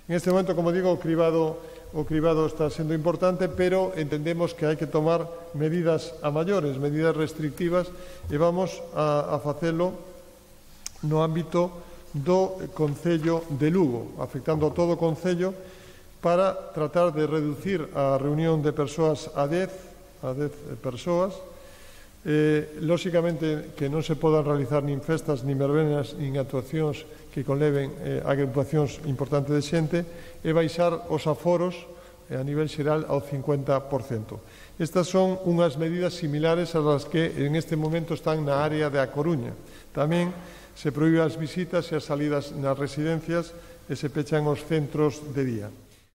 En este momento, como digo, o cribado está sendo importante, pero entendemos que hai que tomar medidas a maiores, medidas restrictivas, e vamos a facelo no ámbito do Concello de Lugo, afectando a todo o Concello, para tratar de reducir a reunión de persoas a 10 persoas. Lóxicamente que non se podan realizar nin festas, nin verbenas, nin actuacións que conleven agrupacións importantes de xente, e baixar os aforos a nivel xeral ao 50%. Estas son unhas medidas similares ás que en este momento están na área de A Coruña. Tamén se prohíben as visitas e as salidas nas residencias e se pechan os centros de día.